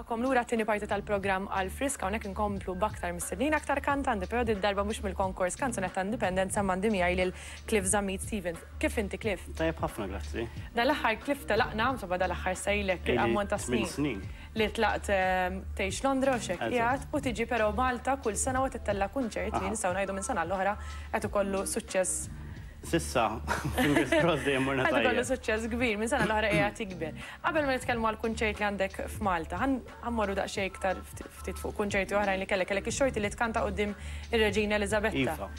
Nilqagħkom lura għat-tieni parti tal-programm Għal Frisk hawnhekk inkomplu b'aktar mistednin aktar kantanti però did-darba mhux mill-konkors Kanzunetta Indipendenza imma għandi miegħi lil Cliff Zammit Stevens. Kif inti Cliff? Tajjeb ħafna grazzi. Dal-aħħar Cliff telaqna, insomma dal-aħħar sa ilek ammont ta' snin li tlaqt tgħix Londra u x'hekk qiegħed u tiġi però Malta kull sena u qed ittella' kunċert li nistgħu ngħidu minn sena għall-oħra qed ikollu suċċess S'issa, fingers crossed dejjem morna tajjeb. Qed ikollu suċċess kbir, minn sena l-oħra qiegħed jikber. Qabel ma nitkellmu għall-kunċert li għandek f'Malta, ħa mmorru daqsxejn iktar ftit fuq kunċerti oħrajn li kellek. Kellek ix-xorti li tkanta quddiem ir-Reġina Eliżabetta. Iva.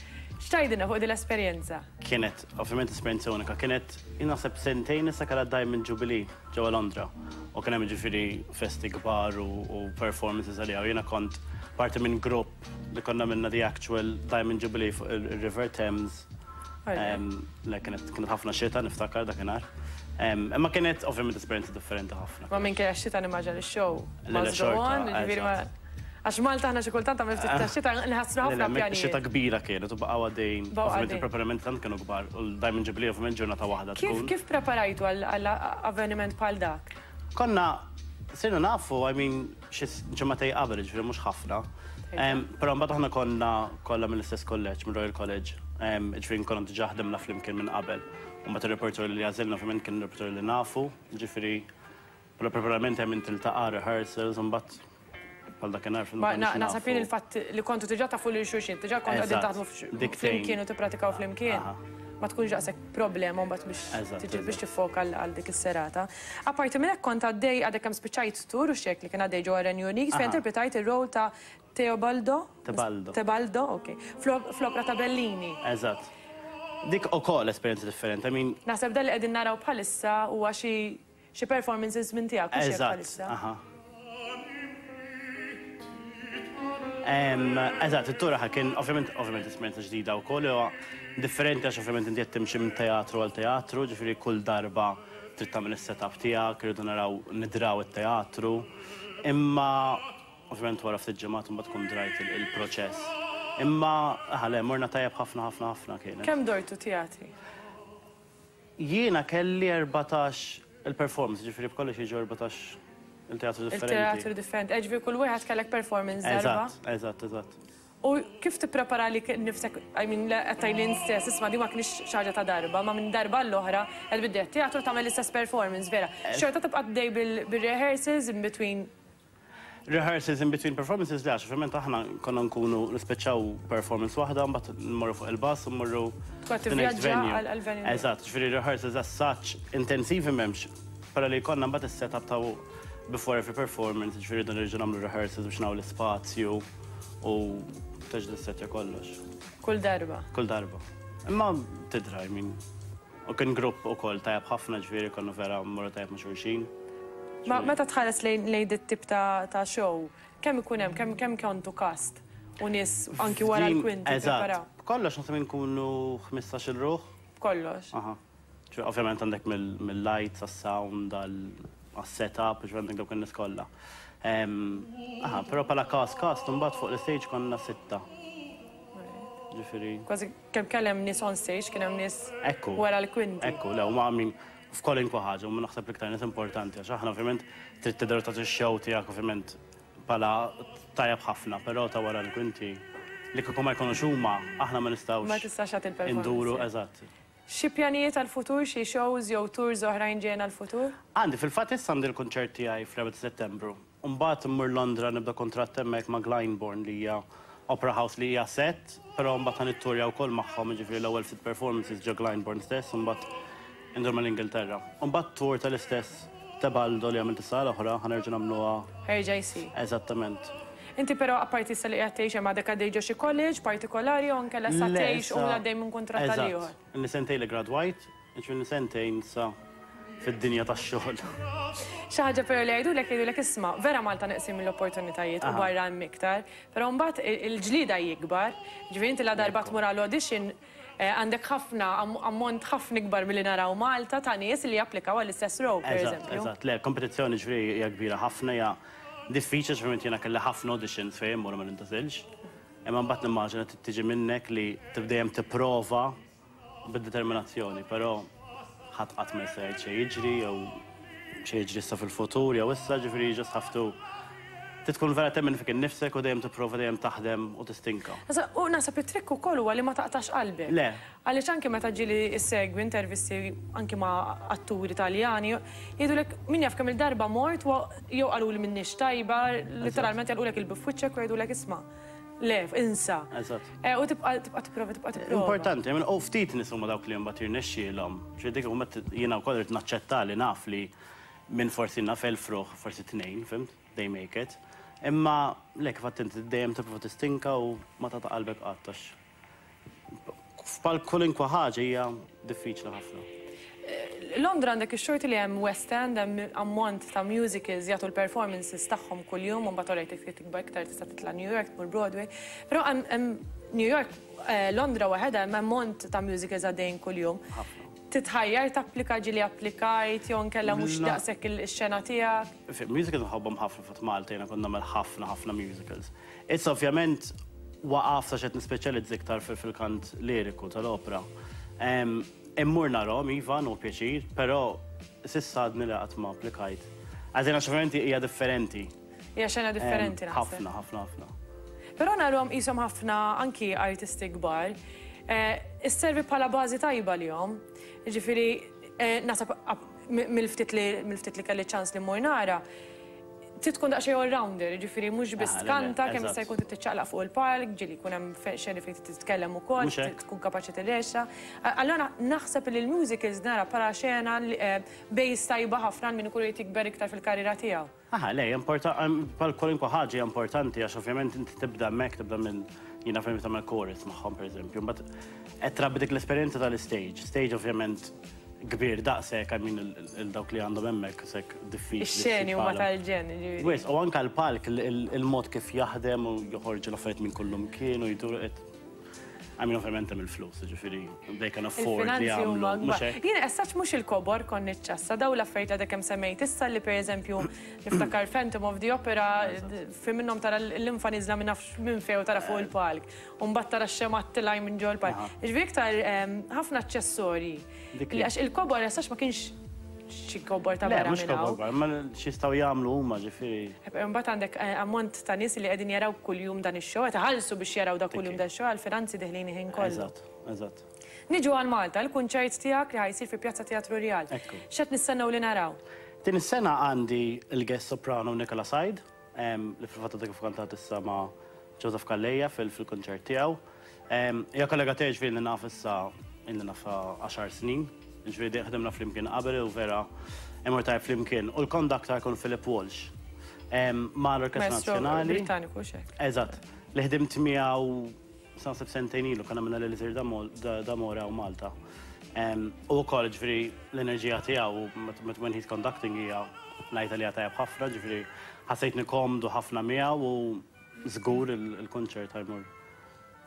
X'tgħidilna fuq din l-esperjenza? Kienet, ovvjament esperjenza unika. Kienet, jien naħseb sentejn issa kellha Diamond Jubilee ġewwa Londra u kien hemm jiġifieri festi kbar u performances għaliha u jiena kont parti minn grupp li konna għamilna the actual Diamond Jubilee fuq ir-River Thames. Le kienet kienet ħafna xita niftakar dakinhar. Imma kienet ovvjament esperjenza differenti ħafna. Ma minkejja x-xita nimmaġina li x-show must go on, jiġifieri ma. Għax Malta aħna xi kultant tagħmel ftit ta' xita nħassru ħafna pjanijiet. Xita kbira kienet u baqgħu għaddejjin. Ovvjament il-preparamenti tant kienu kbar u l-Diamond Jubilee ovvjament ġurnata waħda tkun. Kif preparajtu għal avveniment bħal dak? Konna sirna nafu, I mean, xi ġimagħtejn qabel, jiġifieri mhux ħafna. Però mbagħad aħna konna kollha mill-istess kulleġġ, mir-Royal College, jiġifieri konna diġà ħdimna flimkien minn qabel. U mbagħad ir-repertorju li għażilna ovvjament kien repertorju li nafu, jiġifieri bħala preparament hemm tiltaqa' rehearsals u mbagħad bħal dakinhar fil Naħseb jien il-fatt li kontu diġà tafu lil xulxin, diġà kontu qegħdin taħdmu flimkien u tippratikaw flimkien. Ma tkunx daqshekk problema mbagħad biex tiġi biex tiffoka għal dik is-serata. Apparti minn hekk kont għaddej għadek kemm spiċċajt tour u x'hekk li kien għaddej ġewwa r-Renju Unit fejn interpretajt ir-role ta' Teobaldo? Tebaldo. Tebaldo, ok. Fl-opra ta' Bellini. Eżatt. Dik ukoll esperjenza differenti, I mean. Naħseb dan li qegħdin naraw bħalissa huwa xi Xi performances minn tiegħek hux hekk bħalissa? Eżatt, aha. Eżatt, it-tour aha kien ovvjament ovvjament esperjenza ġdida wkoll huwa differenti għax ovvjament inti qed timxi minn teatru għal teatru, ġifieri kull darba trid tagħmel is-setup tiegħek, irridu naraw nidraw it-teatru. Imma ovvjament wara ftit ġimgħat imbagħad tkun drajt il-proċess. Imma aha le, morna tajjeb ħafna ħafna ħafna kienet. Kemm dortu teatri? Jiena kelli 14 il-performance, jiġifieri b'kollox jiġu 14 il-teatru differenti. Il-teatru differenti, jiġifieri kull wieħed kellek performance darba? Eżatt, eżatt, eżatt. U kif tipprepara għalik innifsek, I mean, qed tgħidli int stess, isma' din ma kinitx xi ħaġa ta' darba, ma minn darba għall-oħra qed tbiddel it-teatru tagħmel l-istess performance, vera. Xorta tibqa' għaddej bil-rehearsals in between Rehearsals in between performances le għax ovvjament aħna konna nkunu nispiċċaw performance waħda mbagħad nmorru fuq il-bus u mmorru the next venue. għal-venue. Eżatt, ġifieri rehearsals as such intensivi m'hemmx. Però li jkollna mbagħad is-setup ta' before every performance, ġifieri rridu nerġgħu nagħmlu rehearsals biex nagħmlu l-ispazju u terġa' tissettja kollox. Kull darba. Kull darba. Imma tidra, I mean. U kien grupp ukoll tajjeb ħafna ġifieri konna vera mmorru tajjeb ma' xulxin. Ma meta tħares lejn lejn dit-tip ta' ta' show, kemm ikun hemm, kemm kemm kontu cast u nies anki wara l-kwinti jippreparaw? Eżatt. B'kollox naħseb inkunu 15-il ruħ. B'kollox? Aha. Ġifieri ovvjament għandek mill-lights għas-sound għas-setup, ġifieri għandek dawk in-nies kollha. Aha, però bħala cast cast imbagħad fuq l-istage konna sitta. Ġifieri. Kważi Kemm kell hemm nies on stage, kien hemm nies wara l-kwinti. Ekku, le, huma I mean, f'kwalunkwe ħaġa, huma naħseb l-iktar nies importanti għax aħna ovvjament trid tidher u tagħti x-show tiegħek ovvjament bħala tajjeb ħafna, però ta' wara l-kwinti li kieku ma jkunux huma, aħna ma nistgħux. Ma tistax tagħti l-performance. Induru, eżatt. Xi pjanijiet għall-futur, xi shows jew tours oħrajn ġejjin għall-futur? Għandi, fil-fatt issa għandi l-kunċert tiegħi fl-4 ta' Settembru. U mbagħad immur Londra nibda kuntratt hemmhekk ma' Glyndebourne li hija opera house li hija set, però mbagħad ħa nitturja wkoll magħhom, jiġifieri l-ewwel ftit performances ġo Glyndebourne stess u mbagħad indur mal-Ingilterra. U mbagħad tour tal-istess Tebaldo li għamilt is-sena l-oħra ħa nerġa' nagħmluha. Ħa jerġa' jsir. Eżattament. Inti però apparti issa li qiegħed tgħix hemm għadek għaddej ġo xi college partikolari jew inkella issa tgħix u għaddej minn kuntratt għal ieħor? Eżatt. Ilni sentejn li gradwajt, Jiġifieri sentejn issa fid-dinja tax-xogħol. Xi ħaġa però li jgħidulek jgħidulek isma' vera Malta neqsin mill-opportunitajiet u barra hemm iktar, però mbagħad il-ġlieda hi ikbar, jiġifieri inti ladarba tmur għal audition għandek ħafna ammont ħafna ikbar milli naraw Malta ta' nies li japplikaw għall-istess role pereżempju. Eżatt, eżatt. Le, kompetizzjoni ġifieri hija kbira ħafna, hija diffiċli għax ovvjament jiena kelli ħafna auditions fejn immur u ma nintgħażilx. Imma mbagħad nimmaġina trid tiġi minnek li tibda dejjem tipprova bid-determinazzjoni, però ħadd qatt ma jista' jgħid x'se jiġri jew x'se jiġri issa fil-futur jew issa, ġifieri you just have to. Trid tkun vera temmen fik innifsek u dejjem tipprova dejjem taħdem u tistinka. U naħseb it-trikk ukoll huwa li ma taqtax qalbek. Le. Għaliex anki meta ġieli ssegwi intervisti anki ma' atturi Taljani, jgħidulek min jaf kemm-il darba mort u jew qaluli m'iniex tajba, litteralment jagħlqulek il-bieb f'wiċċek u jgħidulek isma' le, insa. Eżatt. U tibqa' tibqa' tipprova tibqa' tipprova. Importanti, u ftit nies huma dawk li mbagħad jirnexxielhom. Ġifieri dik mbagħad jiena wkoll irrid naċċetta li naf li minn forsi naf 1000 ruħ, forsi tnejn, fhimt? They make it. Imma le kif għedt inti dejjem tipprova tistinka u ma tagħta qalbek qatt għax f'pal kwalunkwe ħaġa hija diffiċli ħafna. Londra għandek ix-xorti li hemm West End, hemm ammont ta' musicals jagħtu l-performances tagħhom kuljum, u mbagħad orajt jekk tikbar iktar tista' titla' New York, tmur Broadway. Però hemm New York, Londra waħedha hemm ammont ta' musicals għaddejjin kuljum. Ħafna. Titħajjar tapplika ġieli applikajt jew inkella mhux daqshekk ix-xena tiegħek? Musicals nħobbhom ħafna fatt Malta jiena kont nagħmel ħafna ħafna musicals. Issa ovvjament waqaft għax qed nispeċjalizza iktar fil-kant liriku tal-opra. Immur narahom iva, nieħu pjaċir, però s'issa għadni li qatt ma applikajt. As in għax ovvjament hija differenti. Hija xena differenti naħseb. Ħafna, ħafna, ħafna. Però narahom qishom ħafna anki artisti kbar. Isservi bħala bażi tajba lihom. Jiġifieri naħseb mill-ftit li mill-ftit li kelli ċans li mmur nara, trid tkun daqsxejn all-rounder, jiġifieri mhux biss tkanta, kemm jista' jkun trid tiċċaqlaq fuq il-palk, ġieli jkun hemm xeni fejn trid titkellem ukoll, tkun kapaċi tirrexa. Allura naħseb li l-musicals nara bħala xena base tajba ħafna għal min ikun irid jikber iktar fil-karriera tiegħu. Aha, le, bħal kwalunkwe ħaġa hija importanti għax ovvjament inti tibda hemmhekk, tibda minn jiena fejn tagħmel chorus magħhom pereżempju, mbagħad qed trabbi dik l-esperjenza tal-istage. Stage ovvjament kbir daqshekk, I mean il-dawk li għandhom hemmhekk sekk diffiċli. Ix-xeni huma tal-ġenn, jiġifieri. Wisq, u anke l-palk, il-mod kif jaħdem u joħorġu l-affarijiet minn kullumkien u jdur I mean, ovvjament hemm il-flus, jiġifieri they can afford li jagħmlu. Mhux hekk? Jien as such mhux il-kobor kont niċċassa, dawn l-affarijiet għadek kemm semmejt issa li pereżempju niftakar Phantom of the Opera fi minnhom tara l-linfa nieżla minn nafx minn fejn u tara fuq il-palk. U mbagħad tara x-xemgħat tilgħin minn ġol-palk. Jiġifieri iktar ħafna aċċessorji. Li għax il-kobor as such ma kienx xi kobor ta' barra minn hawn. Le, mhux kobor kbar, imma x'jistgħu jagħmlu huma ġifieri. Imbagħad għandek ammont ta' nies li qegħdin jaraw kuljum dan ix-show, qed iħallsu biex jaraw dak kuljum dan ix-show għall-finanzi deħlin il-ħin kollu. Eżatt, eżatt. Niġu għal Malta, il-kunċert tiegħek li ħa jsir fi Pjazza Teatru Rjal. Ekku. X'qed nistennew li naraw? Din is-sena għandi l-guest soprano Nicola Said, li fil-fatt għadha kif kantat issa ma' Joseph Calleja fil-kunċert tiegħu. Hija kollega tiegħi ġifieri li naf issa ilni nafha għaxar snin, ġifieri dejjem ħdimna flimkien qabel u vera immur tajjeb flimkien. U l-conductor jkun Philip Walsh ma' l-Orkestra Nazzjonali. Brittaniku hux hekk? Eżatt, li ħdimt miegħu naħseb sentejn ilu konna għamilna l-Elisir d'Amore hawn Malta. U wkoll ġifieri l-enerġija tiegħu when he's conducting hija ngħid għaliha tajjeb ħafna, ġifieri ħassejtni komdu ħafna miegħu u żgur il-kunċert ħa jmur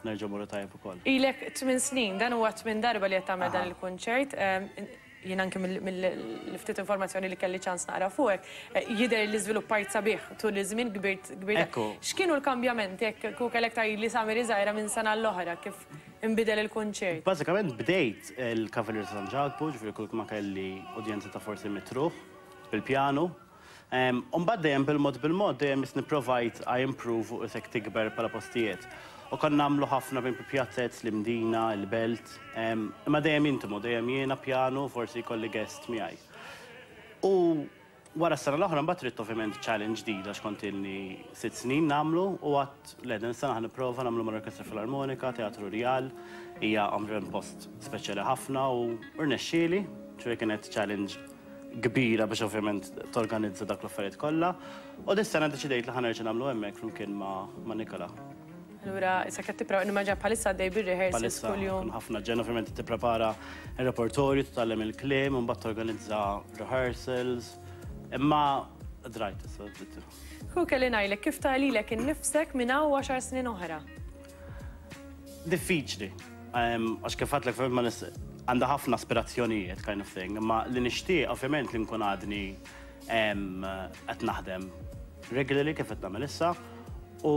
nerġa' mmorru tajjeb ukoll. Ilek tminn snin, dan huwa t-tmien darba li qed tagħmel dan il-kunċert. Jien anki mill-ftit informazzjoni li kelli ċans naqra fuqek, jidher li żviluppajt sabiħ tul iż-żmien, kbirt kbirt. Ekku. X'kienu l-kambjamenti jekk kieku kellek tgħidli Samir iżgħira minn sena għall-oħra kif inbidel il-kunċert? Bażikament bdejt il-Cavalier ta' San Ġakbu, ġifieri kull ma kelli udjenza ta' forsi mitt ruħ bil-pjanu. U mbagħad dejjem bil-mod bil-mod dejjem is nipprovajt I improve u isek tikber bħala postijiet. U konna nagħmlu ħafna bejn pjazzez, l-Imdina, il-Belt, imma dejjem intimu, dejjem jiena pjanu, forsi jkolli guest miegħi. U wara s-sena l-oħra mbagħad ridt ovvjament challenge ġdida għax kont ilni sitt snin nagħmlu u għedt le din is-sena ħa nipprova nagħmlu mal-Orkestra Filarmonika, Teatru Rjal, hija ovvjament post speċjali ħafna u rnexxieli, ġifieri kienet challenge kbira biex ovvjament torganizza dak l-affarijiet kollha. U dis-sena ddeċidejt li ħa nerġa' nagħmlu hemmhekk flimkien ma' Nicola. Allura issa qed tipra nimmaġina bħalissa għaddej bir-rehearsals kuljum. Bħalissa ħafna ġen ovvjament tipprepara r-repertorju, titgħallem il-kliem, u mbagħad torganizza rehearsals. Imma drajt issa. Hu kelli ngħidlek kif tara lilek innifsek minn hawn għaxar snin oħra? Diffiċli. Għax kif għedtlek ovvjament ma nis għandha ħafna aspirazzjonijiet kind of thing, imma li nixtieq ovvjament li nkun għadni qed naħdem regularly kif qed nagħmel issa u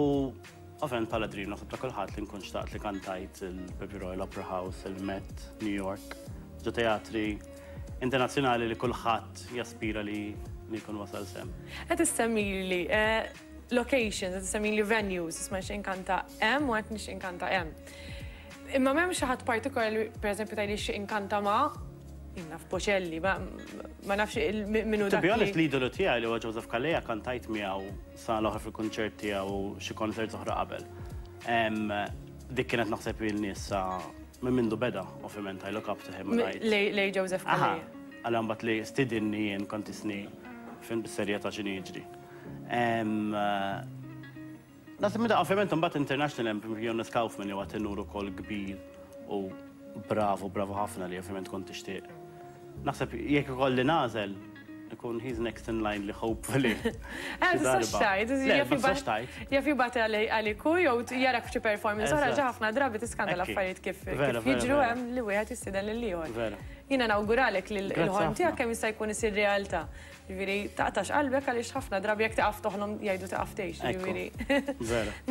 ovvjament bħala dream naħseb ta' kulħadd li nkun xtaqt li kantajt il-Pepi Royal Opera House, il-Met, New York, ġo teatri internazzjonali li kulħadd jaspira li jkun wasal sehem. Qed issemmili. locations, qed issemmili venues, isma' nixtieq inkanta hemm u qed nixtieq inkanta hemm. Imma m'hemm xi ħadd partikolari li pereżempju tgħidli nixtieq inkanta ma' jien naf Bocelli, ma ma nafx min hu dak. To be honest, l-idolu tiegħi li huwa Joseph Calleja kantajt miegħu sena l-oħra fil-kunċert tiegħu u xi concerts oħra qabel. Dik kienet naħseb ilni issa minn mindu beda, ovvjament I look up to him. Lej Joseph Calleja. Għal mbagħad li stidinni jien kont isni fim bis-serjetà x'inhi jiġri. Naħseb meta ovvjament imbagħad international hemm Jonas Kaufmann li huwa tenur ukoll kbir u bravu, bravu ħafna li ovvjament kont tixtieq. Naħseb jekk ikolli nagħżel, ikun he's next in line li hopefully. Eh, tistax tgħid, jaf jibgħat għalik hu jew jarak f'xi performance oħra ġa ħafna drabi tiskanda l-affarijiet kif jiġru hemm li wieħed jistieden lil ieħor. Jiena nawguralek li l-ħolm tiegħek kemm jista' jkun isir realtà. Jiġifieri taqtax qalbek għaliex ħafna drabi jekk tieqaf toħlom jgħidu tieqaf tgħix, jiġifieri.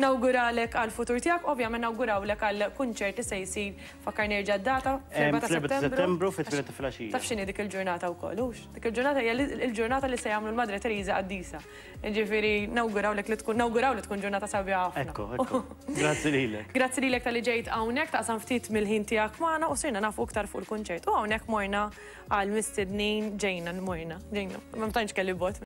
Nawguralek għall-futur tiegħek, ovvjament nawgurawlek għall-kunċert li se jsir, fakkarni erġa' d-data, fl-erbgħa ta' Settembru. Fl-erbgħa ta' Settembru fit-tmienja ta' filgħaxija. Taf x'inhi dik il-ġurnata wkoll, hux? Dik il-ġurnata hija l-ġurnata li se jagħmlu l-Madre Teresa qaddisa. Jiġifieri nawgurawlek li tkun nawguraw li tkun ġurnata sabiħa ħafna. Ekku, ekku. Grazzi lilek. Grazzi lilek talli ġejt hawnhekk taqsam ftit mill-ħin tiegħek magħna u sirna nafu iktar fuq il-kunċert. U hawnhekk morna Għal mistednin ġejna, morna, ġejna. Ma tantx kelli bot.